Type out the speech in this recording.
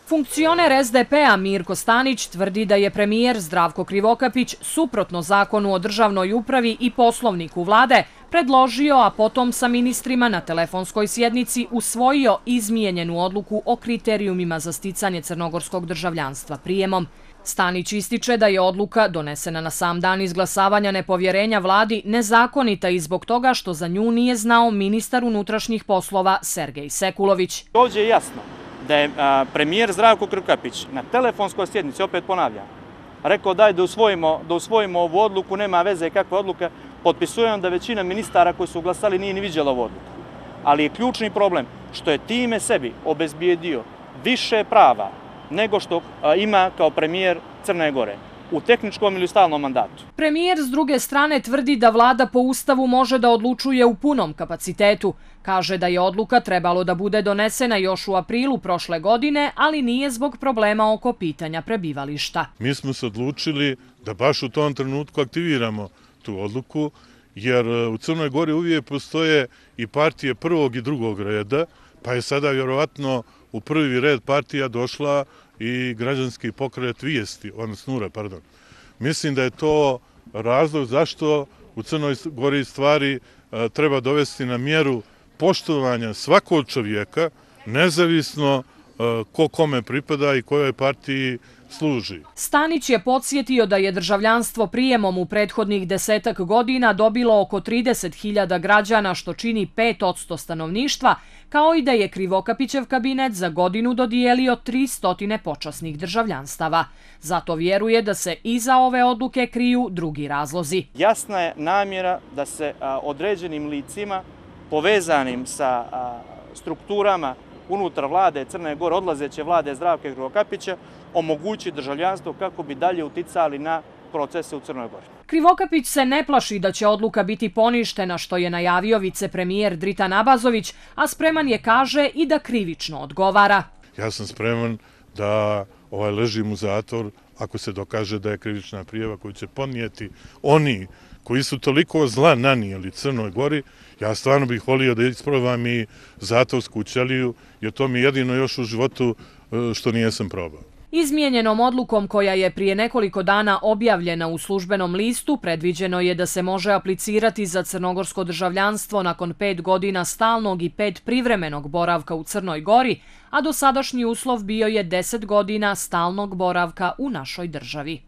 Funkcioner SDP-a Mirko Stanić tvrdi da je premijer Zdravko Krivokapić suprotno zakonu o državnoj upravi i poslovniku vlade predložio, a potom sa ministrima na telefonskoj sjednici usvojio izmijenjenu odluku o kriterijumima za sticanje crnogorskog državljanstva prijemom. Stanić ističe da je odluka, donesena na sam dan izglasavanja nepovjerenja vladi, nezakonita i zbog toga što za nju nije znao ministar unutrašnjih poslova Sergej Sekulović. Ovdje je jasno da je premijer Zdravko Krivokapić na telefonskoj sjednici, opet ponavljam, rekao da usvojimo ovu odluku, nema veze kakva odluka, potpisujem da većina ministara koji su glasali nije ni viđala ovu odluku. Ali je ključni problem što je time sebi obezbijedio više prava nego što ima kao premijer Crne Gore u tehničkom ili stalnom mandatu. Premijer s druge strane tvrdi da vlada po Ustavu može da odlučuje u punom kapacitetu. Kaže da je odluka trebalo da bude donesena još u aprilu prošle godine, ali nije zbog problema oko pitanja prebivališta. Mi smo se odlučili da baš u tom trenutku aktiviramo tu odluku, jer u Crnoj Gori uvijek postoje i partije prvog i drugog reda, pa je sada vjerovatno u prvi red partija došla i građanski pokret Vijesti, odnosno Nura, pardon. Mislim da je to razlog zašto u Crnoj Gori stvari treba dovesti na mjeru poštovanja svakog čovjeka, nezavisno ko kome pripada i kojoj partiji služi. Stanić je podsjetio da je državljanstvo prijemom u prethodnih 10 godina dobilo oko 30.000 građana, što čini 5% stanovništva, kao i da je Krivokapićev kabinet za godinu dodijelio 300 počasnih državljanstava. Zato vjeruje da se iza ove odluke kriju drugi razlozi. Jasna je namjera da se određenim licima povezanim sa strukturama unutar vlade Crne Gore, odlazeće vlade Zdravka Krivokapića, omogući državljanstvo kako bi dalje uticali na procese u Crnoj Gori. Krivokapić se ne plaši da će odluka biti poništena, što je najavio vicepremijer Dritan Abazović, a spreman je, kaže, i da krivično odgovara. Ja sam spreman da ležim u zatvor ako se dokaže da je krivična prijava koju će podnijeti oni koji su toliko zla nanijeli Crnoj Gori. Ja stvarno bih volio da isprobam i zatvorsku ćeliju, jer to mi jedino još u životu što nijesam probao. Izmijenjenom odlukom koja je prije nekoliko dana objavljena u službenom listu, predviđeno je da se može aplicirati za crnogorsko državljanstvo nakon 5 godina stalnog i 5 privremenog boravka u Crnoj Gori, a dosadašnji uslov bio je 10 godina stalnog boravka u našoj državi.